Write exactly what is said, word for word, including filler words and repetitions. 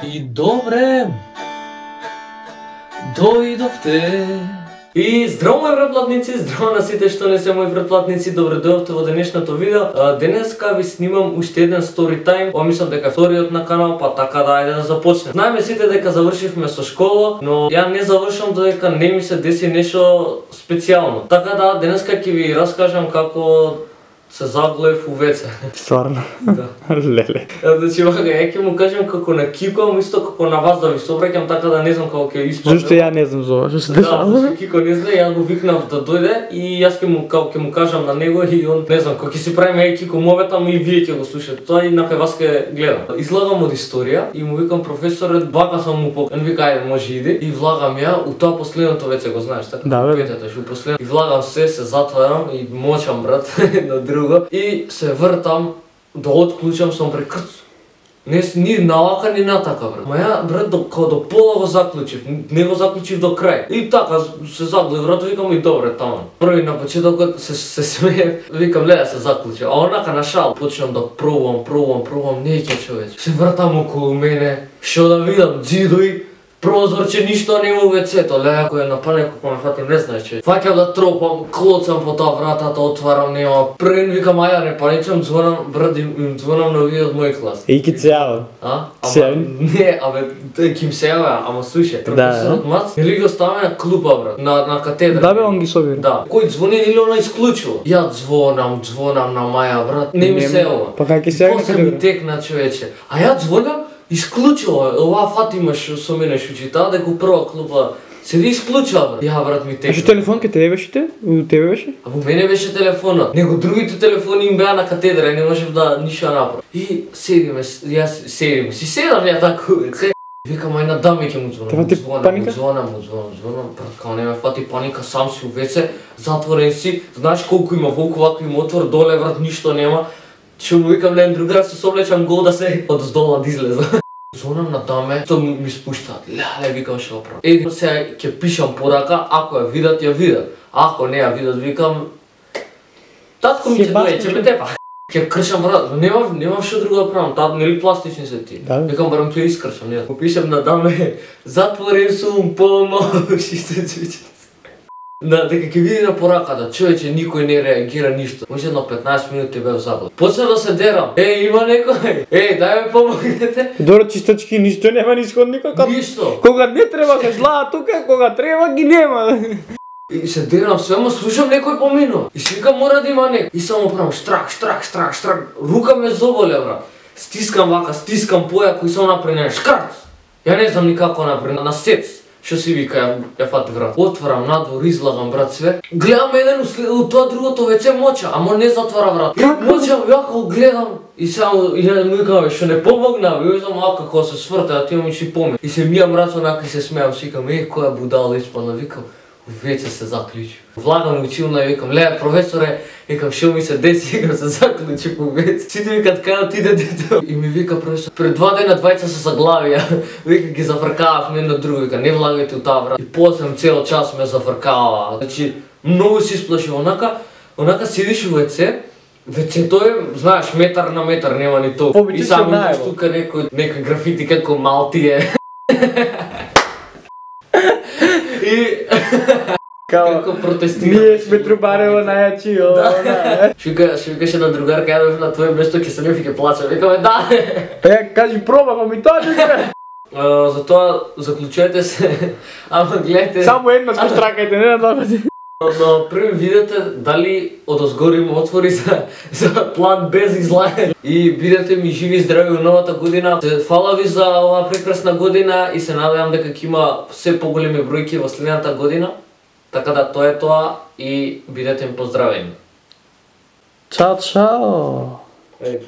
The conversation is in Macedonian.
И добре, дојдовте. И здраво мои претплатници, здраво на сите што не се мои претплатници, добре дојдовте во денешното видео. Денеска ви снимам уште еден story time, ова мислам дека вториот на канал, па така да ајде да започнем. Знаеме сите дека завршивме со школа, но ја не завршам додека не ми се деси нешто специјално. Така да денеска ќе ви раскажам како се заглавив у веце. Стварно? Да. Леле. Значи, вака, ја ќе му кажам како на Кико, исто како на вас да ви собраќам, така да не знам како ќе испадне. Зашто ја не знам за ова, што се дешава? Да, зашто Кико не знае, јас го викнав да дојде и јас ќе му како ќе му кажам на него и он не знам, кога ќе си правиме еј Кико моветам и вие ќе го слушате. Тоа и на кај вас ќе гледам. Излагам од историја и му викам професорот, вака сам му покажам. Он вика ајде може иди и влагам ја у тоа последното веќе го знаеш, така? Да, бе. Петата што последно. И влагам се, се затварам и мочам брат на друго и се вртам да отклучам сум прекрц. Не ни навака ни натака брат. Ма ја брат до као до пола го заклучив, не го заклучив до крај. И така се заглавив брат, викам и добре таман. Први на почетокот се се смеев, викам леда се заклучив. А онака на шал почнам да пробувам, пробувам, пробувам, не ќе човече. Се вртам околу мене, што да видам ѕидови, прозорче, ништо нема у вецето, леја кој е на паник, како ме фати, не знаеш че. Фаќам да тропам, клоцам по тоа вратата, отварам, нема. Прен викам, аја не паничам, звонам, брат, им звонам на овие од мој клас. И ки се јавам. А? Се Ама, не, абе, тој ки им се јавя, ама слушај, професорот Мац, нели го ставаме на клупа, брат, на, на катедра. Да бе, он ги собира. Да. Кој звони или она исклучува? Ја звонам, звонам на Маја, брат, не ми се јава. Па како ќе се јави на После ми катедра? текна човече. А ја звонам, исклучува, оваа Фатимаш со мене шучи, таа дека у прва клупа седи исклучува, брат. Ја брат ми А текна. што телефон ке тебе беше те? У тебе беше? А во мене беше телефонот. Него другите телефони им беа на катедра и не можев да ништо направам. И седиме, јас седиме, си седам ја таку, се. Викам ај на дами ќе му звонам. Те фати Звонам, паника? му звонам, му звонам, звонам, брат, као не ме фати паника, сам си у веце, затворен си, знаеш колку има волку, вако има отвор, доле брат, ништо нема. Што му викам на другар, се соблечам гол да се одоздолна да излеза. Звонам на даме, тоа ми спуштаат, леле, викам што правам. Еди сега ќе пишам порака, ако ја видат, ја видат. Ако не ја видат, викам, татко ми ќе дојде, ќе ме тепа. Ќе кршам брат, немав, немав што друго да правам, тат нели пластични се ти. Да. Викам барам тоа искршам, не. Му пишам на даме, затворен сум, помош и се чујте. Да, дека ќе види на пораката, човече, никој не реагира ништо. Може на петнаесет минути бев заблад. Почна да се дерам. Еј, има некој? Еј, дај ме помогнете. Добро чистачки, ништо нема низ ходникот. Ништо. Кога не треба се злаа тука, кога треба ги нема. И се дерам све, ама слушам некој поминува. И си викам мора да има некој. И само правам штрак, штрак, штрак, штрак. Рука ме заболе, брат. Стискам вака, стискам појако и само направи шкарц. Ја не знам никако направи, на сец. Што си вика, ја, ја фати врат. Отварам надвор, излагам брат све. Гледам еден у тоа другото веце моча, ама не затвара врат. Мочам, јако гледам и само и не му викам, што не помогна, и знам ака кога се сврта, а ти ми си помни. И се мијам рацо онака и се смеам, си викам, е, која будала испадна, викам, веќе се заклучи. Влагам училна и викам, леја професоре, викам, што ми се деси, викам, се заклучи по веќе. Сите викат, кај отиде дето. И ми вика професор, пред два дена двајца се заглавија, вика, ги зафркавав едно друго, вика, не влагајте у таа врат. И после цел час ме зафркава. Значи, многу се исплаши, онака, онака седиш у веце, вецето е, знаеш, метар на метар, нема ни толку. И само имаш тука некој, некој графити како Малтие. И како протестира. Ние сме трубарево најачи, ова. Што викаше на другарка, ја бев на твое место, ќе се ми ќе плачам. Викаме да. Е, кажи проба, па ми тоа не. Затоа заклучете се, ама гледате. Само еднаш го штракајте, не на два пати. Но први видете дали одозгори има отвори за, за план без излагање. И бидете ми живи и здрави у новата година. Фала ви за оваа прекрасна година и се надевам дека ќе има се поголеми бројки во следната година. Така да тоа е тоа и бидете ми поздравени. Чао, чао. Еј,